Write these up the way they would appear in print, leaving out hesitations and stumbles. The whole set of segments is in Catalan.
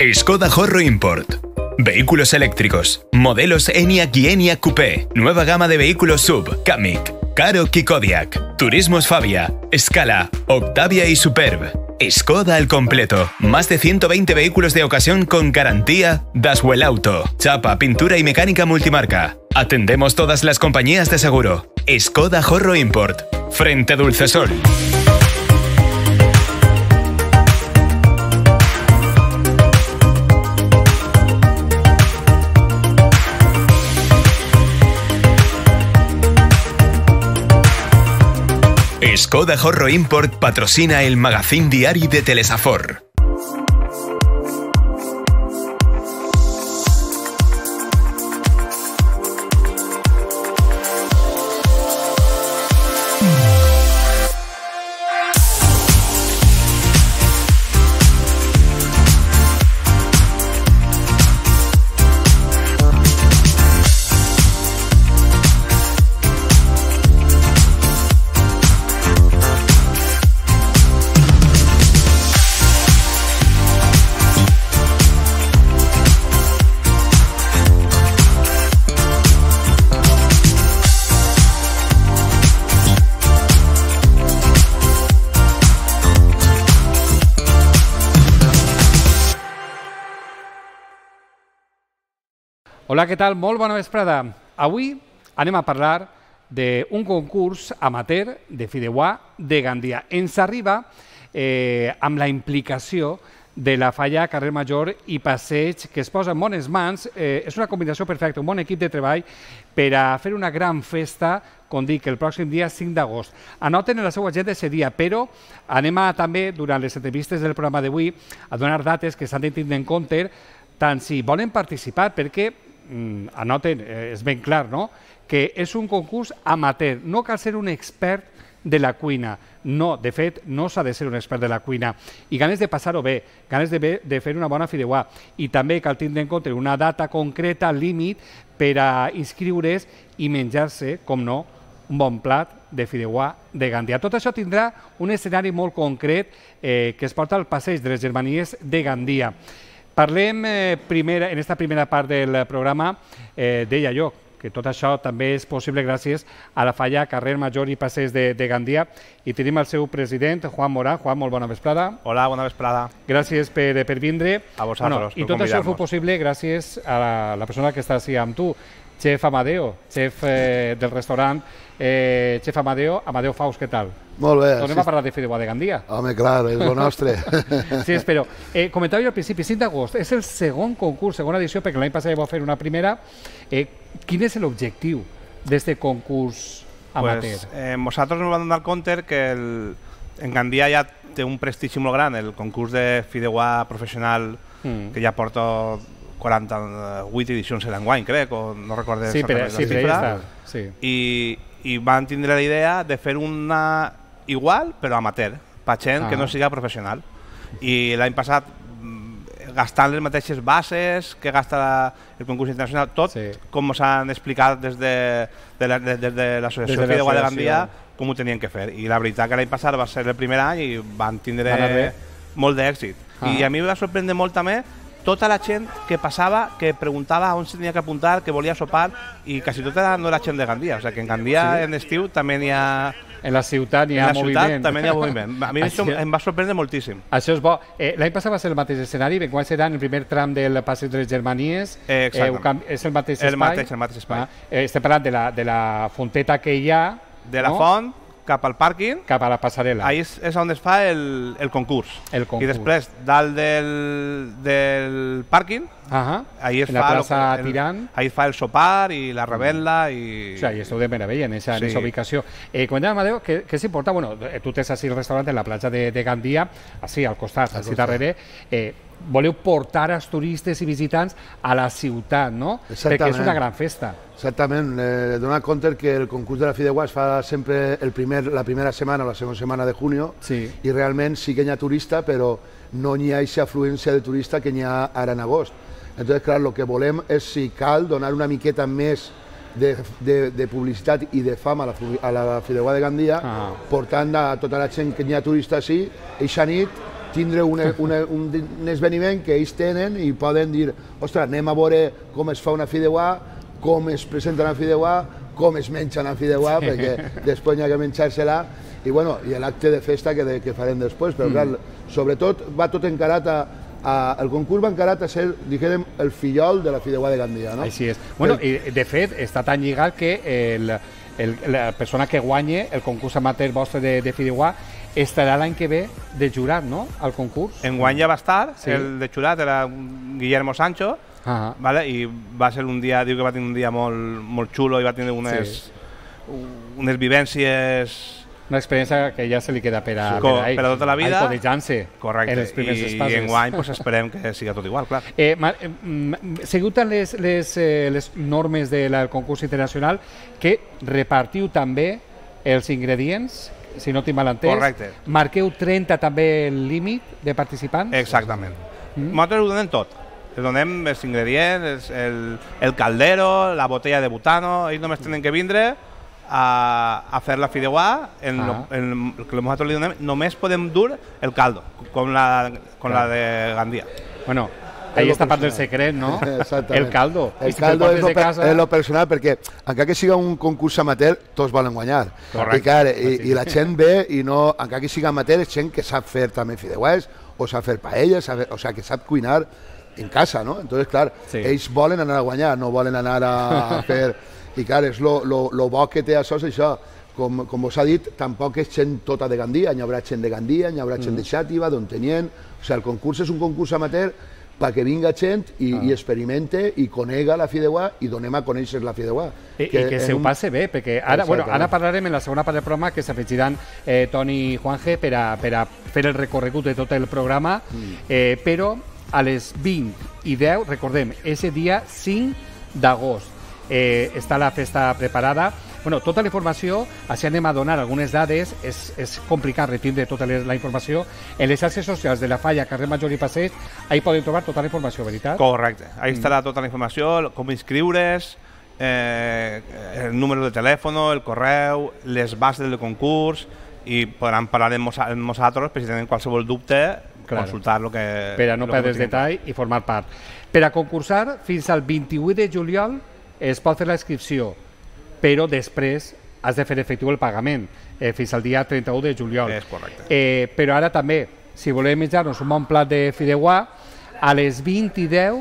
Skoda Horro Import. Vehículos eléctricos. Modelos Enyaq y Enyaq Coupé. Nueva gama de vehículos SUV. Kamiq, Karoq y Kodiaq. Turismos Fabia, Scala, Octavia y Superb. Skoda al completo. Más de 120 vehículos de ocasión con garantía Daswell Auto. Chapa, pintura y mecánica multimarca. Atendemos todas las compañías de seguro. Skoda Horro Import. Frente Dulcesol. Skoda Horro Import patrocina el magazín diari de Telesafor. Hola, què tal? Molt bona vesprada. Avui anem a parlar d'un concurs amateur de fideuà de Gandia. Ens arriba amb la implicació de la Falla Carrer Major i Passeig, que es posa en bones mans. És una combinació perfecta, un bon equip de treball per a fer una gran festa, com dic, el pròxim dia 5 d'agost. Anoten en la seva agenda aquest dia, però anem a també, durant les entrevistes del programa d'avui, a donar dates que s'han de tindre en compte, tant si volen participar, perquè anoten, és ben clar, no?, que és un concurs amateur. No cal ser un expert de la cuina. No, de fet, no s'ha de ser un expert de la cuina. I ganes de passar-ho bé, ganes de fer una bona fideuà. I també cal tindre en compte una data concreta, límit, per a inscriure's i menjar-se, com no, un bon plat de fideuà de Gandia. Tot això tindrà un escenari molt concret que es porta al Passeig de les Germanies de Gandia. Parlem en aquesta primera part del programa, deia jo, que tot això també és possible gràcies a la Falla Carrer Major i Passeig de Gandia, i tenim el seu president, Juan Morán. Juan, molt bona vesprada. Hola, bona vesprada. Gràcies per vindre. A vosaltres, I tot això fou possible gràcies a la persona que està així amb tu, Chef Amadeo, chef del restaurant Chef Amadeo Faust, què tal? Molt bé. Tornem a parlar de fideuà de Gandia. Home, clar, és el nostre. Sí, espero. Comentava jo al principi, 5 d'agost, és el segon concurs, segona edició, perquè l'any passat ja vau fer una primera. Quin és l'objectiu d'aquest concurs amateur? Nosaltres ens vam donar compte que en Gandia ja té un prestigi molt gran, el concurs de fideuà professional, que ja porta 48 edicions l'enguany, crec, o no recordo exactament la xifra. I van tindre la idea de fer una igual, però amateur, per gent que no siga professional. I l'any passat, gastant les mateixes bases que gasta el concurs internacional, tot com s'han explicat des de l'Associació Fideuà de Gandia, com ho tenien que fer. I la veritat que l'any passat va ser el primer any i van tindre molt d'èxit. I a mi em va sorprendre molt també tota la gent que passava, que preguntava on se tenia que apuntar, que volia sopar, i quasi tota no era gent de Gandia. O sigui que en Gandia, en estiu, també n'hi ha... En la ciutat n'hi ha moviment. En la ciutat també n'hi ha moviment. A mi això em va sorprendre moltíssim. Això és bo. L'any passat va ser el mateix escenari, quan serà en el primer tram del Passeig de les Germanies. Exactament. És el mateix espai? El mateix espai. Estem parlant de la fonteta que hi ha... De la font cap al pàrquing. Cap a la passarel·la. Ahí és on es fa el concurs. I després, dalt del pàrquing, ahí es fa el sopar i la revetla. I esteu de meravella en aquesta ubicació. Comentàvem, Amadeu, que és important, tu tens així el restaurant en la platja de Gandia, així al costat, així darrere, voleu portar els turistes i visitants a la ciutat, no? Perquè és una gran festa. Exactament. Donar compte que el concurs de la fideuà es fa sempre la primera setmana o la segona setmana de junio, i realment sí que hi ha turista, però no hi ha aquesta afluència de turista que hi ha ara en agost. Entonces, clar, el que volem és, si cal, donar una miqueta més de publicitat i de fama a la fideuà de Gandia, portant a tota la gent que hi ha turista així, eixa nit, tindre un esdeveniment que ells tenen i poden dir, ostres, anem a veure com es fa una fideuà, com es presenta una fideuà, com es menja una fideuà, perquè després hi ha que menjar-se-la, i bueno, i l'acte de festa que farem després, però clar, sobretot va tot encarat el concurs va encarat a ser, diguem, el fillol de la fideuà de Gandia, no? Així és. Bueno, i de fet, està tan lligat que la persona que guanye el concurs amateur vostre de fideuà estarà l'any que ve de jurat, no?, al concurs. Enguany ja va estar, el de jurat era Guillermo Sancho, vale? I va ser un dia, diu que va tenir un dia molt xulo i va tenir unes vivències... Una experiència que ja se li queda per a tota la vida. Codejant-se en els primers espases. I enguany esperem que siga tot igual, clar. Seguiu tant les normes del concurs internacional que repartiu també els ingredients, si no tinc mal entès. Correcte. Marqueu 30 també el límit de participants? Exactament. Nosaltres ho donem tot. Donem els ingredients, el caldero, la botella de butano, ells només tenen que vindre a fer la fideuà, el que nosaltres li donem, només podem dur el caldo, com la de Gandia. Bueno, ahí està part del secret, no? El caldo. El caldo és lo personal, perquè encara que siga un concurs amateur, tots volen guanyar. I la gent ve i no, encara que siga amateur, és gent que sap fer també fideuàs, o sap fer paelles, o sigui, que sap cuinar en casa, no? Entonces, clar, ells volen anar a guanyar, no volen anar a fer... I clar, és lo bo que té això és això. Com us ha dit, tampoc és gent tota de Gandia, hi haurà gent de Gandia, hi haurà gent de Xàtiva, d'Ontinyent... O sigui, el concurs és un concurs amateur perquè vinga gent i experimente i conega la fideuà i donem a conèixer la fideuà. I que se ho passe bé, perquè ara parlarem en la segona part del programa que s'afegiran Toni i Juanje per a fer el recorregut de tot el programa, però a les 20 i 10, recordem, és el dia 5 d'agost. Està la festa preparada. Bueno, tota la informació, així anem a donar algunes dades, és complicat retindre tota la informació. En les xarxes socials de la Falla, carrer Major i Passeig, ahí poden trobar tota la informació, veritat? Correcte, ahí estarà tota la informació, com inscriure's, el número de telèfon, el correu, les bases del concurs, i podran parlar amb nosaltres, per si tenen qualsevol dubte, consultar el que... Per a no perdre detall i formar part. Per a concursar, fins al 28 de juliol, es pot fer la inscripció, però després has de fer efectiu el pagament, fins al dia 31 de juliol. És correcte. Però ara també, si volem menjar-nos un bon plat de fideuà, a les 20 i 10,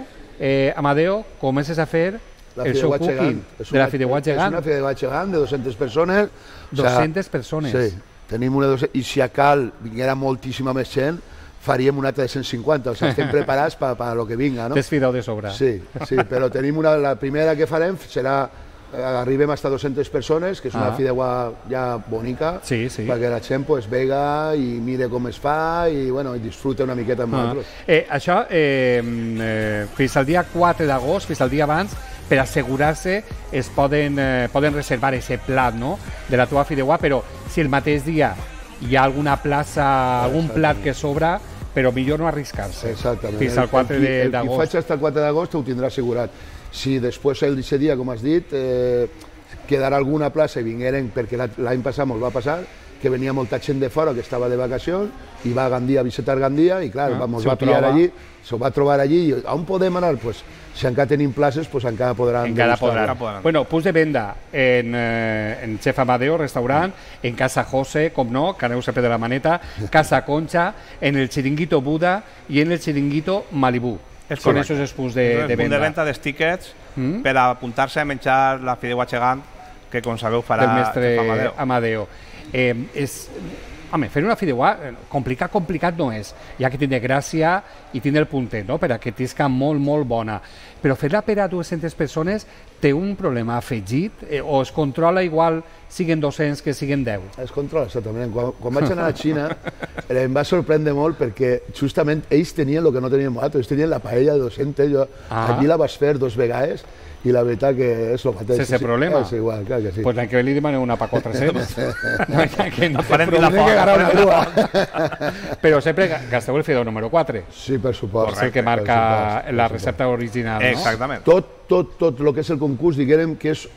Amadeo, comences a fer el show cooking de la fideuà gegant. És una fideuà gegant de 200 persones. 200 persones. Sí, tenim una 200, i si a cal vinguera moltíssima més gent, faríem una altra de 150, o sigui, estem preparats per a lo que vinga, no? T'has fideu de sobre. Sí, però tenim la primera que farem serà, arribem fins a 200 persones, que és una fideuà ja bonica, perquè la gent vega i mire com es fa i disfruta una miqueta amb nosaltres. Això, fins al dia 4 d'agost, fins al dia abans, per assegurar-se, es poden reservar aquest plat de la teva fideuà, però si el mateix dia hi ha alguna plaça, algun plat que sobra, però millor no arriscar-se. Exactament. Fins al 4 d'agost. El qui faig fins al 4 d'agost ho tindrà assegurat. Si després d'aquest dia, com has dit, quedarà alguna plaça i vingueren, perquè l'any passat ens va passar, que venia molta gent de fora que estava de vacacions i va a Gandia a visitar Gandia i clar, ens va pillar allí, s'ho va trobar allí i on podem anar? Pues, si encara tenim places, pues encara podran. Bueno, punts de venda en Chef Amadeo, restaurant, en Casa José, com no, que aneu sempre de la maneta, Casa Concha, en el Chiringuito Buda i en el Chiringuito Malibú. Són aquests els punts de venda. El punt de venda dels tíquets per apuntar-se a menjar la fideuà gegant que, com sabeu, farà el mestre Amadeo. Home, fer una fideuà complicat no és, ja que tindre gràcia i tindre el puntet, per a que tisca molt, molt bona. Però fer-la per a 200 persones té un problema afegit o es controla igual siguen 200 que siguen 10? Es controla, exactament. Quan vaig anar a Xina em va sorprendre molt perquè justament ells tenien el que no teníem nosaltres, ells tenien la paella de 200, jo allí la vaig fer 2 vegades i la veritat que és el mateix. Sense problema? És igual, clar que sí. Pues l'any que ve li demanem una pa 400. Que no farem ni la foc. Però sempre gasteu el fideu número 4. Sí, per supost. És el que marca la recepta original, no? Exactament. Tot el que és el concurs, diguem que és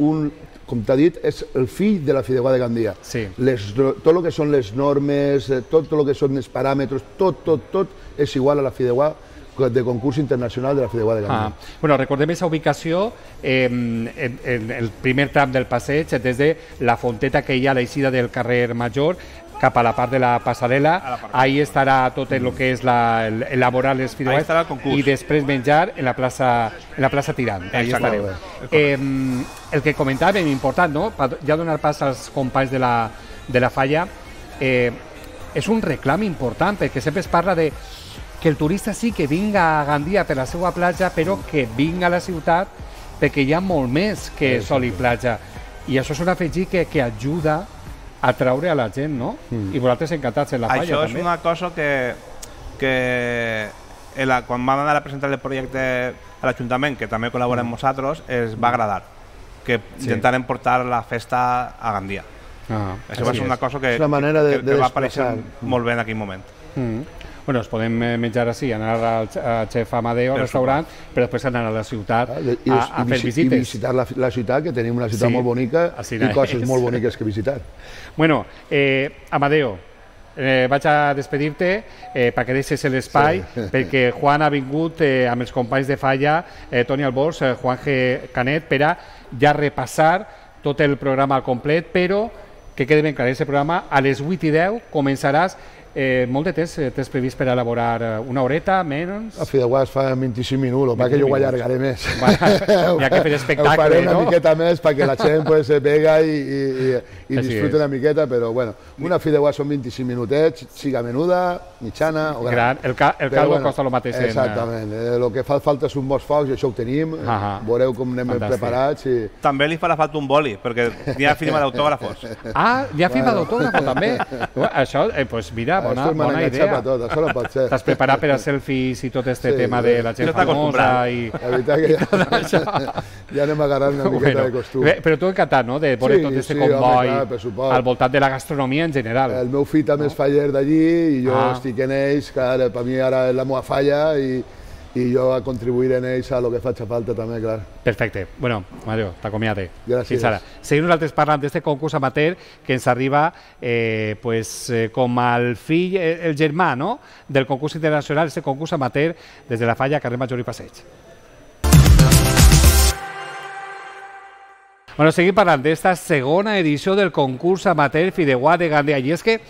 com t'ha dit, és el fill de la Fideuà de Gandia. Sí. Tot el que són les normes, tot el que són els paràmetres, tot és igual a la Fideuà de concurs internacional de la Fideuà de Gandia. Bueno, recordem aquesta ubicació en el primer tram del passeig, des de la fonteta que hi ha a l'eixida del carrer Major cap a la part de la passarel·la, ahí estarà tot el que és elaborar les fideuàs i després menjar en la plaça Tirant. Ahí estareu. El que comentàvem, important, no? Ja donar pas als companys de la falla, és un reclam important, perquè sempre es parla de que el turista sí que vinga a Gandia per la seva platja, però que vinga a la ciutat perquè hi ha molt més que sol i platja. I això és un afegit que ajuda a traure a la gent, no? I vosaltres encantats en la falla, també. Això és una cosa que quan vam anar a presentar el projecte a l'Ajuntament, que també col·laborem amb nosaltres, es va agradar, que intentarem portar la festa a Gandia. Això va ser una cosa que va aparèixer molt bé en aquell moment. Bueno, ens podem menjar així, anar al Chef Amadeo, al restaurant, però després anar a la ciutat a fer visites. I visitar la ciutat, que tenim una ciutat molt bonica i coses molt boniques que visitar. Bueno, Amadeo, vaig a despedir-te perquè deixes l'espai, perquè Juan ha vingut amb els companys de falla, Toni Albors, Juan G. Canet, per a ja repassar tot el programa al complet, però que quedi ben clar, aquest programa a les 8:10 començaràs. Molt de temps tens previst per elaborar una horeta, menys? A Fideuà es fa 25 minuts, perquè jo ho allargaré més. Hi ha que fer espectacle, no? Ho faré una miqueta més perquè la gent se pega i disfruta una miqueta, però bueno, una Fideuà són 25 minutets, siga menuda, mitjana o gran. El caldo costa el mateix. Exactament, el que fa falta és un bons focs i això ho tenim, veureu com anem preparats. També li farà falta un boli, perquè hi ha firma d'autògrafos. Ah, hi ha firma d'autògrafo també? Això, doncs mira, bona idea. T'has preparat per a selfies i tot aquest tema de la gent famosa i... La veritat que ja anem agarrant una miqueta de costum. Però tu encantat, no?, de veure tot aquest comboi al voltant de la gastronomia en general. El meu fill també és faller d'allí i jo estic en ells, que per mi ara és la meva falla i jo a contribuir en ells a lo que faci falta també, clar. Perfecte. Bueno, Mario, t'acomiate. Gràcies. Fins ara. Seguim nosaltres parlant d'aquest concurs amateur que ens arriba com el fill, el germà, no?, del concurs internacional, aquest concurs amateur des de la falla, carrer Major i Passeig. Bueno, seguim parlant d'esta segona edició del concurs amateur Fideuà de Gandia. I és que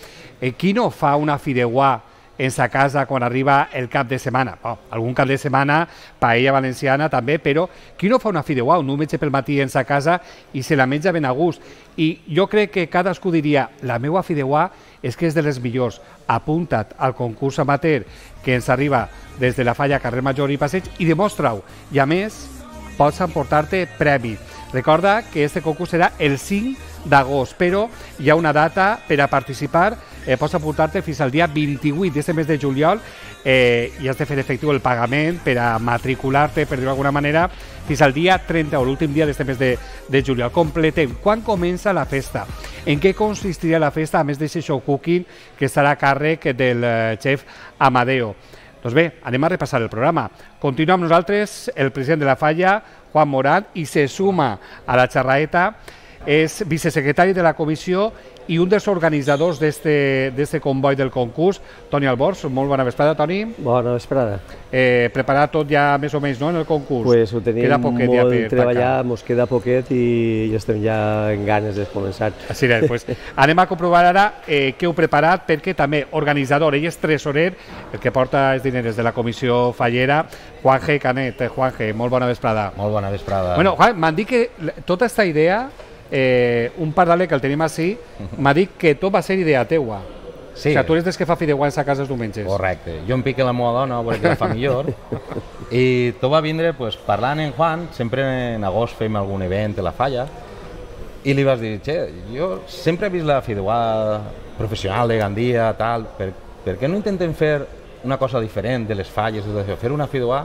qui no fa una Fideuà en sa casa quan arriba el cap de setmana? Algun cap de setmana, paella valenciana també, però qui no fa una Fideuà, un menja pel matí en sa casa i se la menja ben a gust? I jo crec que cadascú diria, la meva Fideuà és que és de les millors. Apunta't al concurs amateur que ens arriba des de la falla carrer Major i Passeig i demostra-ho. I a més, pots emportar-te premi. Recorda que este concurs serà el 5 d'agost, però hi ha una data per a participar, pots apuntar-te fins al dia 28 d'aquest mes de juliol i has de fer efectiu el pagament per a matricular-te, per dir-ho d'alguna manera, fins al dia 30 o l'últim dia d'aquest mes de juliol. Completem. Quan comença la festa? En què consistiria la festa, a més d'aquest show cooking que estarà a càrrec del xef Amadeo? Doncs bé, anem a repassar el programa. Continua amb nosaltres el president de la falla, Juan Morán, i se suma a la xerraeta, és vicesecretari de la comissió i un dels organitzadors d'este comboi del concurs, Toni Albors. Molt bona vesprada, Toni. Bona vesprada. Preparat tot ja més o menys, no?, en el concurs. Pues ho tenim molt treballat, mos queda poquet i estem ja en ganes de començar. Així és, doncs anem a comprovar ara què heu preparat, perquè també organitzador, ell és tresorer, el que porta els diners de la comissió fallera, Juan G. Canet. Juan G., molt bona vesprada. Molt bona vesprada. Bueno, Juan, m'han dit que tota aquesta idea, un pardale que el tenim així, m'ha dit que tot va ser idea teua. Sí. O sigui, tu eres des que fa fideuà en sa casa els diumenges. Correcte. Jo em pique la meva dona, perquè la fa millor, i tot va vindre parlant en Juan, sempre en agost fem algun event a la falla, i li vas dir, jo sempre he vist la fideuà professional de Gandia, tal, per què no intentem fer una cosa diferent de les falles, fer una fideuà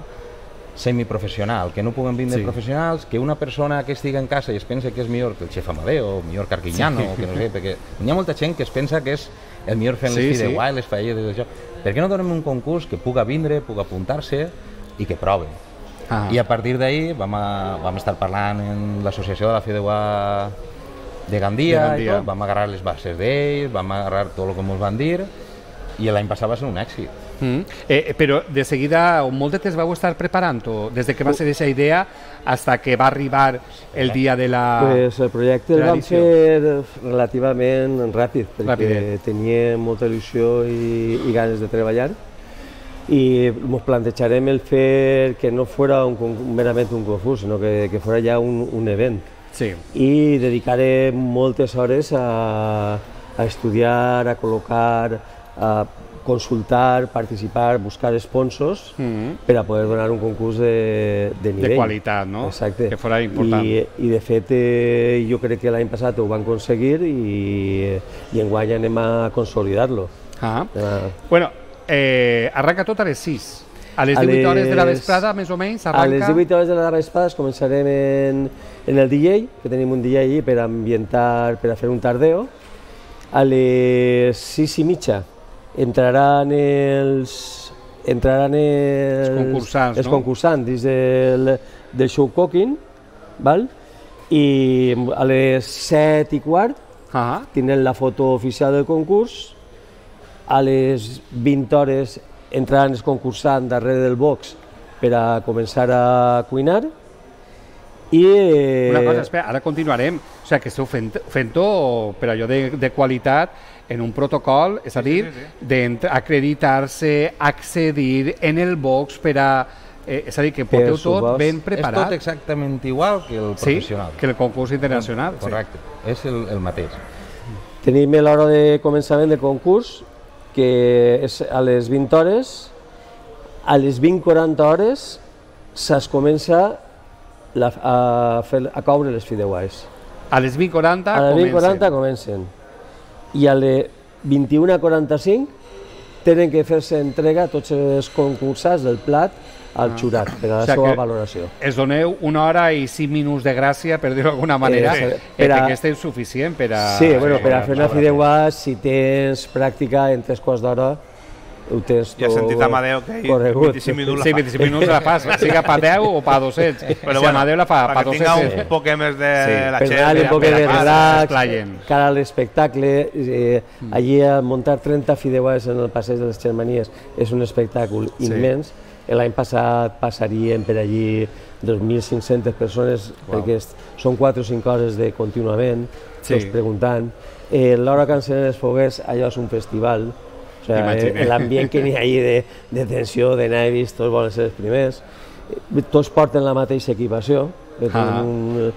semiprofessional, que no puguen vindre professionals, que una persona que estigui en casa i es pensa que és millor que el xef Amadeo, millor que Arquiñano, que no sé, perquè hi ha molta gent que es pensa que és el millor fent les fideuà i les falles, per què no donem un concurs que puga vindre, puga apuntar-se i que prove? I a partir d'ahir vam estar parlant en l'associació de la Fideuà de Gandia, i tot, vam agarrar les bases d'ells, vam agarrar tot el que ens van dir, i l'any passat va ser un èxit. Però de seguida, molt de temps vau estar preparant-ho, des que va ser aquesta idea fins que va arribar el dia de la... Pues el projecte el vam fer relativament ràpid, perquè tenia molta il·lusió i ganes de treballar, i ens plantejarem el fer que no fora merament un concurs, sinó que fora ja un event. Sí. I dedicaré moltes hores a estudiar, a col·locar, a consultar, participar, buscar sponsors per a poder donar un concurs de nivell. De qualitat, no? Exacte. Que fora important. I de fet, jo crec que l'any passat ho van aconseguir i enguany anem a consolidar-lo. Bueno, arranca tot a les 6. A les 18 hores de la vesprada, més o menys, arranca... A les 18 hores de la vesprada començarem en el DJ, que tenim un DJ allí per ambientar, per a fer un tardeo. A les 6:30 entraran els concursants dins del show cooking, i a les 7:15 tindrem la foto oficial del concurs. A les 20 hores entraran els concursants darrere del box per a començar a cuinar. Una cosa, espera, ara continuarem. O sigui, que esteu fent-ho per allò de qualitat en un protocol, és a dir, d'acreditar-se, accedir en el box per a... És a dir, que porteu tot ben preparat. És tot exactament igual que el professional. Sí, que el concurs internacional. Correcte, és el mateix. Tenim l'hora de començament de concurs, que és a les 20 hores. A les 20:40 hores es comença a coure les fideuàs. A les 20:40 a les 20:40 comencen. I a les 21:45 tenen que fer-se entrega a tots els concursants del plat al jurat per a la seva valoració. Es doneu 1 hora i 5 minuts de gràcia, per dir-ho d'alguna manera, perquè és suficient per a... Sí, per a fer una fideuà, si tens pràctica en 3 quarts d'hora, ho tens tot... Ja he sentit Amadeu que 25 minuts la fa. Sí, 25 minuts la fas, siga pa 10 o pa 200. Però si Amadeu la fa pa 200... Perquè tinga un poc més de la per donar-li un poc de relax, cara a l'espectacle. Allí a muntar 30 fideuàs en el passeig de les Germanies és un espectacle immens. L'any passat passarien per allí 2.500 persones, perquè són 4 o 5 hores de contínuament, tots preguntant. L'hora que encenen els foguers, allò és un festival. L'ambient que n'hi ha allà de tensió, de nervis, tots volen ser els primers. Tots porten la mateixa equipació. Un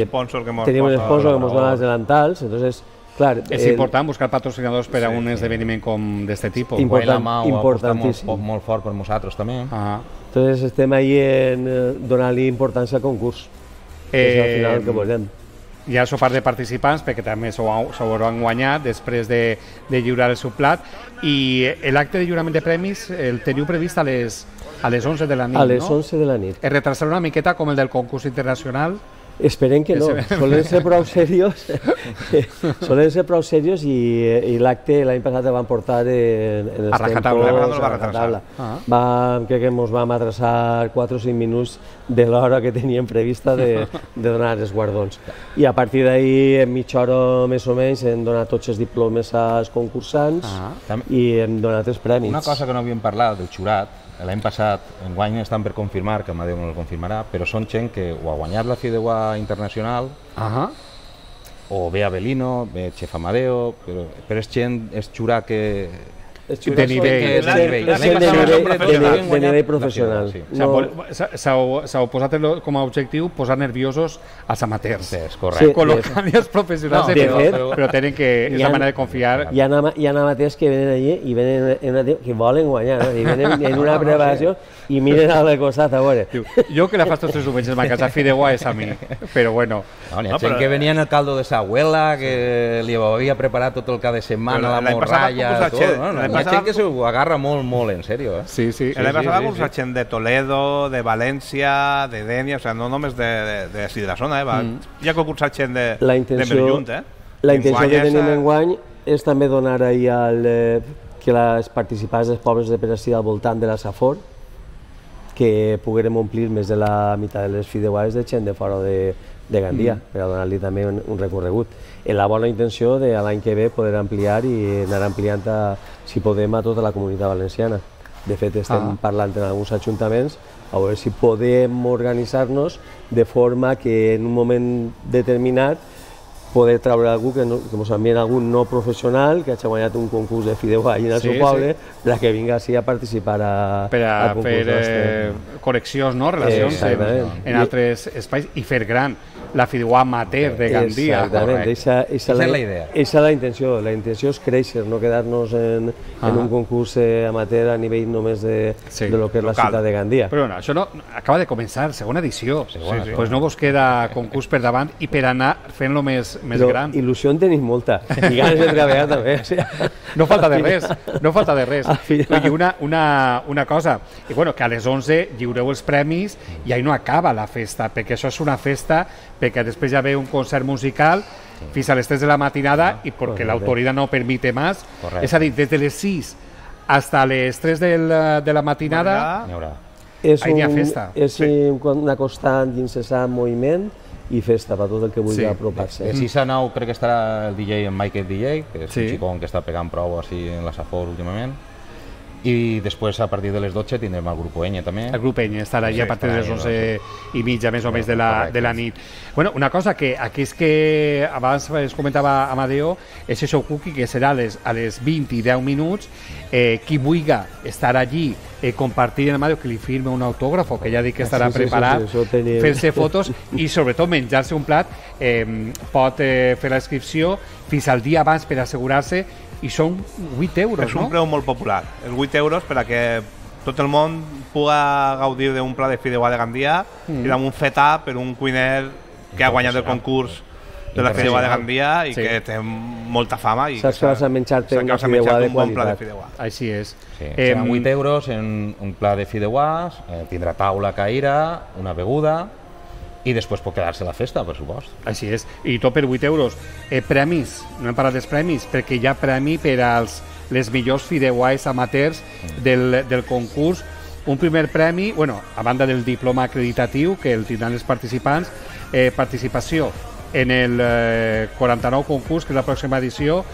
sponsor que tenim un sponsor que ens dona els delantals, entonces... Clar, és important buscar patrocinadors per a un esdeveniment com d'aquest tipus. Importantíssim. Molt fort per nosaltres també. Entonces estem ahí en donar-li importància al concurs. És al final el que volem. Hi ha sopar de participants, perquè també s'ho hauran guanyat després de lliurar el seu plat. I l'acte de lliurament de premis el teniu previst a les 11 de la nit, no? A les 11 de la nit. Es retrasarà una miqueta com el del concurs internacional? Esperem que no, solen ser prou seriós i l'acte l'any passat el van portar en els tempos a rajatabla. Crec que ens vam atrasar 4 o 5 minuts de l'hora que teníem prevista de donar els guardons. I a partir d'ahir, en mitja hora més o menys, hem donat tots els diplomes als concursants i hem donat els premis. Una cosa que no havíem parlat del jurat, l'any passat, enguany estan per confirmar, que Amadeu no el confirmarà, però són gent que o ha guanyat la Fideuà internacional, o ve Avelino, ve Chef Amadeo, però és gent, és jurat que... De nivell. De nivell professional. S'heu posat com a objectiu posar nerviosos als amateurs. Correcte. Col·locant els professionals, però tenen que... És la manera de confiar. Hi ha amateurs que venen allí i venen que volen guanyar, i venen en una preparació i miren al costat a veure. Jo que la faig tots els diumenges a casa Fideuà és a mi, però bueno. Hi ha gent que venia en el caldo de sa abuela, que li havia preparat tot el cada setmana, la morralla, tot. Hi ha gent que s'ho agarra molt, molt en sèrio. Sí. L'any passat va cursar gent de Toledo, de València, de Dénia, o sigui, no només de la zona, hi ha concursat gent de Merllunt. La intenció que tenim enguany és també donar ahir que els participants dels pobles de Perasí al voltant de la Safor, que poguérem omplir més de la meitat de les fideuades de gent de fora de Gandia, per a donar-li també un recorregut. En la bona intenció de l'any que ve poder ampliar i anar ampliant, si podem, a tota la comunitat valenciana. De fet, estem parlant en alguns ajuntaments a veure si podem organitzar-nos de forma que en un moment determinat poder treure algú que ens envien algun no professional que hagi guanyat un concurs de fideuà allà al seu poble perquè vingui així a participar al concurs. Per a fer connexions, relacions en altres espais i fer gran la fideuà amateur de Gandia. Exactament, aquesta és la idea. Aquesta és la intenció. La intenció és créixer, no quedar-nos en un concurs amateur a nivell només de lo que és la ciutat de Gandia. Però no, això acaba de començar, segona edició. Doncs no vos queda concurs per davant i per anar fent-lo més gran. Però il·lusió en tenim molta i ganes de treballar també. No falta de res. I una cosa, que a les 11 lliureu els premis i ahí no acaba la festa, perquè això és una festa perquè després ja ve un concert musical fins a les 3 de la matinada i perquè l'autoritat no permite més. És a dir, des de les 6 fins les 3 de la matinada hi ha festa. És una constant i incessant moviment i festa per tot el que vulgui apropar-se. De 6 a 9 crec que estarà el DJ en Michael DJ, que és un xicón que està pegant prou així en la Safor últimament. I després, a partir de les 12, tindrem el grup Enya també. El grup Enya estarà allà a partir de les 11:30, més o menys, de la nit. Una cosa que aquí és que abans es comentava Amadeo, és això cookie que serà a les 20 i 10 minuts. Qui vulgui estar allí, compartir amb Amadeo, que li firme un autògrafo, que ja dic que estarà preparat, fer-se fotos i sobretot menjar-se un plat, pot fer la inscripció fins al dia abans per assegurar-se. I són 8 euros, És un preu molt popular. És 8 euros per a que tot el món pugui gaudir d'un plat de fideuà de Gandia i amb un feta per un cuiner que ha guanyat el concurs de la fideuà de Gandia i que té molta fama. Saps que vas a menjar-te un fideuà de qualitat. Així és. Seran 8 euros en un plat de fideuàs, tindrà taula, caïra, una beguda i després pot quedar-se la festa, per supost. Així és. I tot per 8 euros. Premis, no hem parlat dels premis, perquè hi ha premi per als les millors fideuàs amateurs del concurs. Un primer premi, a banda del diploma acreditatiu que el tindran els participants, participació en el 49 concurs, que és la pròxima edició,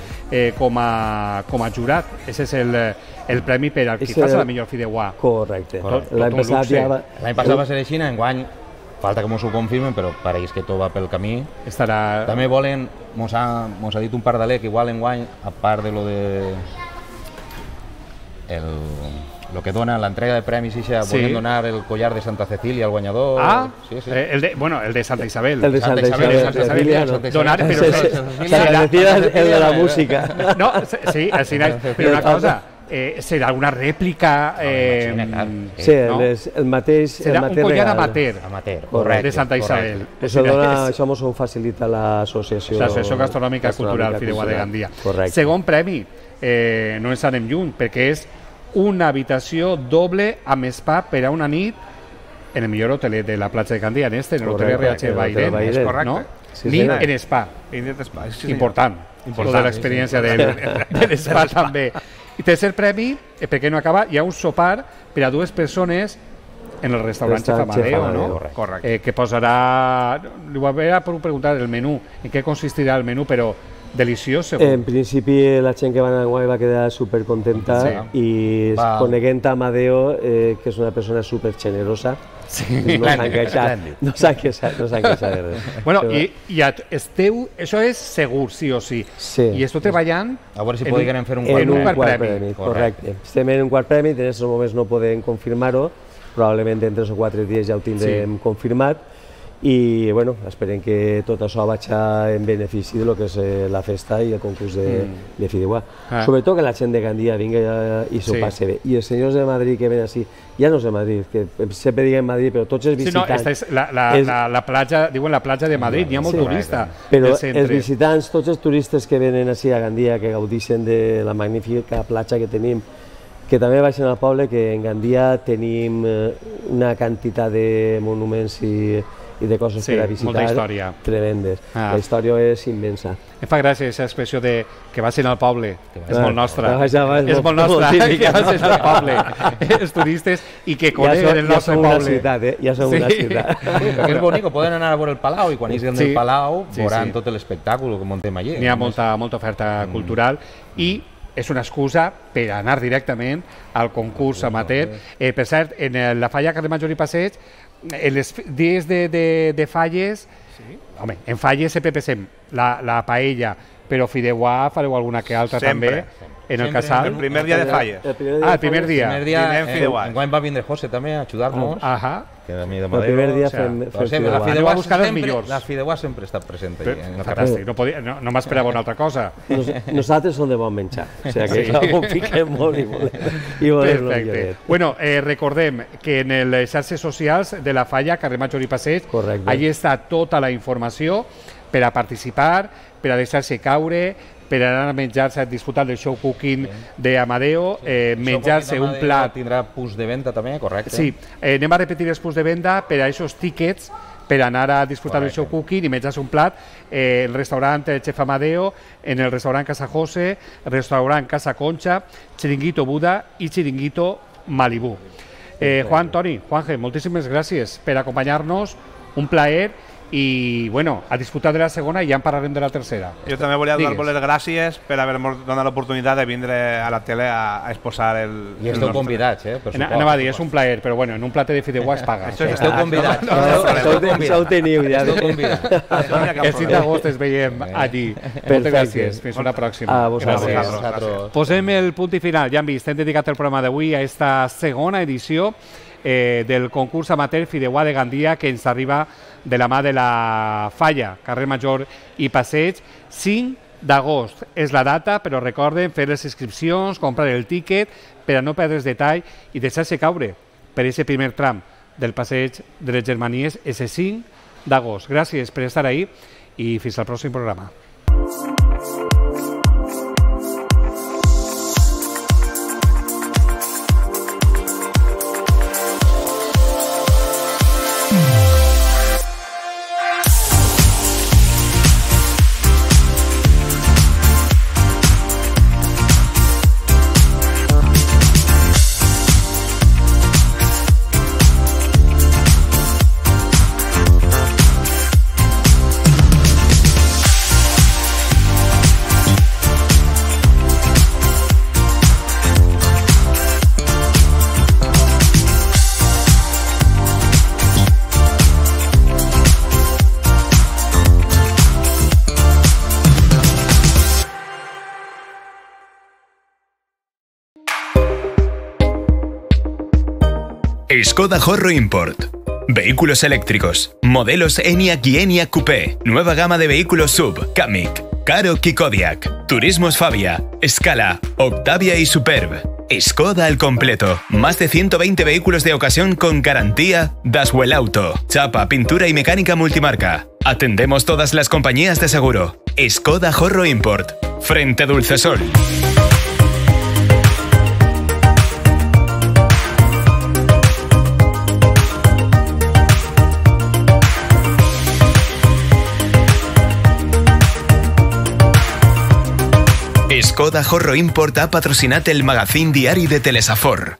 com a jurat. Aquest és el premi per al qui faci la millor fideuà. Correcte. L'any passat va ser així, enguany falta que mos ho confirmen, però pareix que tot va pel camí. També volen, mos ha dit un pardalé que igual enguany, a part de lo de lo que dona l'entrega de premis, volen donar el collar de Santa Cecília al guanyador. El de Santa Isabel. El de Santa Isabel. Santa Cecília, el de la música. No, sí, però una cosa, serà alguna rèplica... Sí, el mateix... Serà un collar amateur de Santa Isabel. Això ens ho facilita l'associació... L'Associació Gastronòmica Cultural Fideuà de Gandia. Segon premi, no ens anem lluny, perquè és una habitació doble amb spa per a una nit en el millor hotelet de la platja de Gandia, en l'hotel RH Bairén, és correcte? Nit en spa. Important. De l'experiència de l'espa també. I tercer premi, perquè no acaba, hi ha un sopar per a 2 persones en el restaurant Chef Amadeo, no? Correcte. Que posarà... Li voy a preguntar el menú, en què consistirà el menú, però deliciós, segur. En principi, la gent que va anar a Guai va quedar supercontenta i coneguent a Amadeo, que és una persona supergenerosa, no s'han queixat de res. Bueno, i esteu, això és segur, sí o sí. I esteu treballant a veure si podrien fer un quart premi. Correcte. Estem en un quart premi, en aquests moments no podem confirmar-ho, probablement en 3 o 4 dies ja ho tindrem confirmat, i esperem que tot això vagi en benefici del que és la festa i el concurs de fideuà. Sobretot que la gent de Gandia vingui i s'ho passi bé. I els senyors de Madrid que venen així, ja no és de Madrid, que sempre diguem Madrid, però tots els visitants... La platja, diuen la platja de Madrid, hi ha molt turista. Però els visitants, tots els turistes que venen així a Gandia, que gaudeixen de la magnífica platja que tenim, que també baixen al poble, que en Gandia tenim una quantitat de monuments i i de coses per a visitar tremendes. La història és immensa. Em fa gràcia aquesta expressió de que vas al poble, és molt nostra. És molt nostra, que vas al poble, els turistes, i que coneguen el nostre poble. Ja som una ciutat. És bonic, poden anar a veure el Palau, i quan isquen del Palau veuran tot l'espectacle que muntem allí. N'hi ha molta oferta cultural, i és una excusa per anar directament al concurs amateur. Per cert, en la falla Carrer Major i Passeig, en els dies de falles, home, en falles sempre pensem la paella, però fideuà fareu alguna que altra també en el casal. El primer dia de falles. El primer dia. Enguany va vindre José també a ajudar-nos. El primer dia fem fideuà. La fideuà sempre està present allà. Fantàstic, no m'esperava una altra cosa. Nosaltres som de bon menjar, o sigui que ho piquem molt i volem Perfecte. Bueno, recordem que en les xarxes socials de la falla, Carrer Major i Passeig, allí està tota la informació per a participar, per a deixar-se caure, per anar a menjar-se, a disfrutar del show cooking d'Amadeo, menjar-se un plat. Tindrà punts de venda també, correcte? Sí, anem a repetir els punts de venda per a aquests tickets per anar a disfrutar del show cooking i menjar-se un plat el restaurant Chef Amadeo, en el restaurant Casa José, el restaurant Casa Concha, Chiringuito Buda i Chiringuito Malibu. Juan, Toni, Juanje, moltíssimes gràcies per acompanyar-nos, un plaer, i bueno, a disfrutar de la segona i ja en parlarem de la tercera. Jo també volia donar-vos les gràcies per haver-nos donat l'oportunitat de vindre a la tele a exposar el... I esteu convidats, Anava a dir, és un plaer, però bueno, en un plater de fideuà es paga. Esteu convidats. Això ho teniu ja. Esteu convidats. El 5 d'agost es veiem allí. Moltes gràcies, fins una pròxima. A vosaltres. Posem el punt i final, ja hem vist, hem dedicat el programa d'avui a esta segona edició del concurs amateur Fideuà de Gandia, que ens arriba de la mà de la falla, Carrer Major i Passeig. 5 d'agost és la data, però recorden fer les inscripcions, comprar el tíquet per a no perdre's detall i deixar-se caure per aquest primer tram del Passeig de les Germanies, ese 5 d'agost. Gràcies per estar ahí i fins al pròxim programa. Skoda Horro Import. Vehículos eléctricos. Modelos Enyaq y Enyaq Coupé. Nueva gama de vehículos SUV. Kamiq, Karoq y Kodiaq. Turismos Fabia, Scala, Octavia y Superb. Skoda al completo. Más de 120 vehículos de ocasión con garantía Daswell Auto. Chapa, pintura y mecánica multimarca. Atendemos todas las compañías de seguro. Skoda Horro Import. Frente Dulcesol. Skoda Horro Import ha patrocinat el magazín diari de Telesafor.